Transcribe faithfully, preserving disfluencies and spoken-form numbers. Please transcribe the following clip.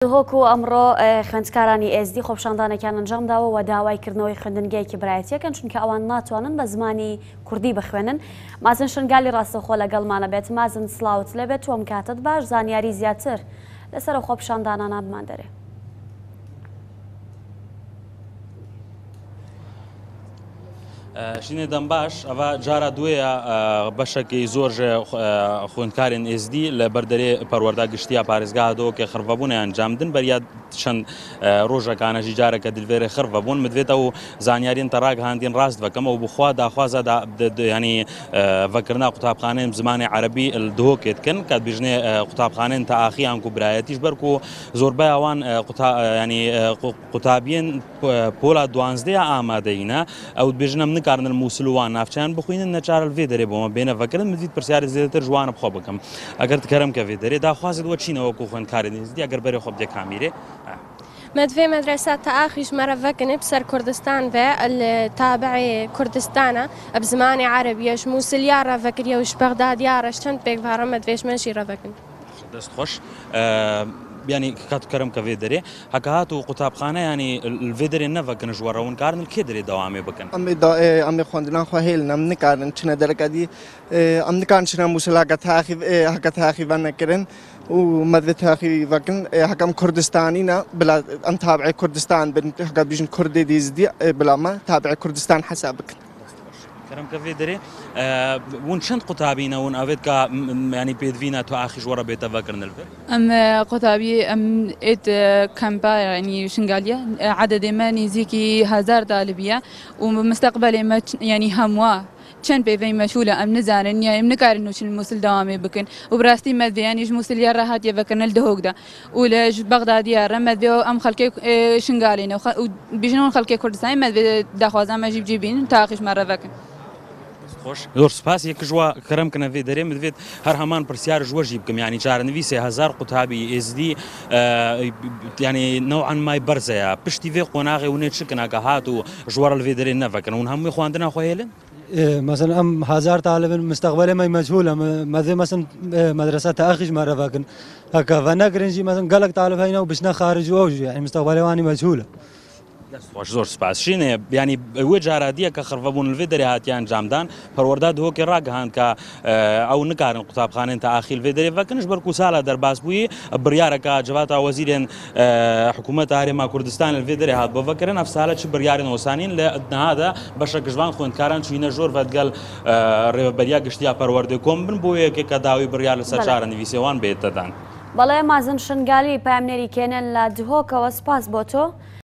دهۆک و ئەمڕۆ خوێندکارانی ئێزدی خۆپیشاندانێکیان ئەنجامداوە و داوای کردنەوەی خوێندنگەیەکی برایەتیەکەن، چونکە ئەوان ناتوانن بە زمانی کوردی بخوێنن. مازن شنگالی ڕاستەوخۆ لەگەڵمانە بێت. مازن سڵاوت لێبێت، تۆم کاتت باش، زانیاری زیاتر لەسەر خۆپیشاندانانە بمان دەرێ. شینێ دەم باش، ئەوە جارە دوێە بەشێکی زۆر خوێندکارên ئێزدی لە بەردەرێ پەروەردە گشتیە پارێزگا دۆکێ خڕڤەبوون ئەنجامدن بەریا چەند ڕۆژەکانەژی جارێکە دلێرە خڕڤەبوون مدوێتە و زانیارین تەڕاگ هاندین ڕاست بکەمەوە بخوا داخوازە ینی ڤەکردنا قوتابخانەی زمانی عەرەبی دهۆکێت کەن کە بژنێ قوتابخانەن تا ئاخیان و برایەتیش بەرکو و زۆربەی ئەوان ینی قوتابیên پۆلا دوانزدەیە ئامادەینە ئەو بژنم نکارن مووسلوان ناوچیان بخوێنن نەچارە vê derê بۆمە بێنە ڤەکردن مدیت پرسیاری زیاتر ژوانە بخۆ بکەم ئەگەر کەرم کە vê derê داخوازت وە چینەوە کو خوێندکاری ئێزدی ئەگەر بەرێ خۆ بدێ کامیرێ. مدفي مدرسة تآخيش مرة فكني بسر كردستان في التابع كردستانا بزماني عربية موسل يارا فكريا وش بغداد يارا شتنت بيك فارا مدفيش منشي رفكن. دەست خۆش. ینی کات کەرم کە vê derê هەکە هات و قوتابخانە ینی vê derê نەڤەکن ژوەڕەون کارن کێ derê دەوامێ بکەن؟ ئەم خوێندنان خوا هێلن ئەم نکارن چنە دەرەکەدی ئەم نکارن چنە مووسل هەکە تاخیڤە نەکردن و مەدوێ تاخیڤەکن هەکەم کوردستانینە بلا ئەم تابعی کوردستان بن هەکە بیژن کوردی دیزدی بلا مە تابعی کوردستان حساب بکەن. کەرم کە vê derê ون چەند قوتابینە ون ئەوێت کە ینی پێدوینە تۆ ئاخیش وەرە بێتە ڤەکردن لەڤێ؟ ئەم قوتابی ئەم ئێت کەمپا ینی شنگالیە عدد ما نزیکی هزار طالبیە و مستقبل ما ینی هەمووە چەند پێوەی مەشولە ئەم نزانن یا ئەم نکارن و چن مووسل داوامێ بکەن و بڕاستی مەدوێیانیش مووسل یارە هاتیە ڤەکردن لە دهۆکدا و لە بەغدادیارە مەدوێ ئەم خەڵکێ شنگالینە و بیژنەوە خەڵکێ کوردستانی مەدوێ داخوازان مەژی بجێ بینن تا ئاخیش مەرە ڤەکەن. خۆش زۆر سپاس. یەکژوە کەرم کەنە vê derê مدوێت هەر هەمان پرسیار ژوەژی بکەم ینی چارەنویسێ هەزار قوتابی ئێزدی ینی نەوعەن مای بەرزەیە پشتی vê قۆناغێ ونێ چ کناکە هات و ژوەرە لە vê derê نەڤەکەن ون هەمووی خواندنا خۆ هێلن؟ مثلا ام هزار طالب مستقبل ما مجهوله ماذا مثلا مدرسه تاخيش مره فاكن هكا فنقرنجي مثلا قالك طالب هنا وبشنا خارج ووجه يعني مستقبل واني مجهوله. خۆش زۆر سپاس. شینێ ینی وێ جارادیە کە خڕڤەبوون vê derê هاتیان ئەنجامدان پەروەردە دهۆکێ ڕاگەهاند کە ئەو نکارن قوتابخانەن تا ئاخیل vê derê ڤەکەنش بەرکو ساڵە دەرباز بووی بڕیارەکە جەواتە وەزیرێن حکوومەت هەرێما کوردستان vê derê هات بۆ ڤەکردن ئەف ساڵە چ بڕیارن وەسانین لە نهادا بەشە گژوان خوێندکاران چوینە ژۆر ڤەدگەل ڕێوەبەریا گشتیا پەروەردە کۆم بن بۆ یەکێک کە داوی بڕیار لەسەر چارەنویسێوان بێتەدان. بەڵێ مازن شنگالی پامنێری کێنن لە دهۆکەوە سپاس بۆ تۆ.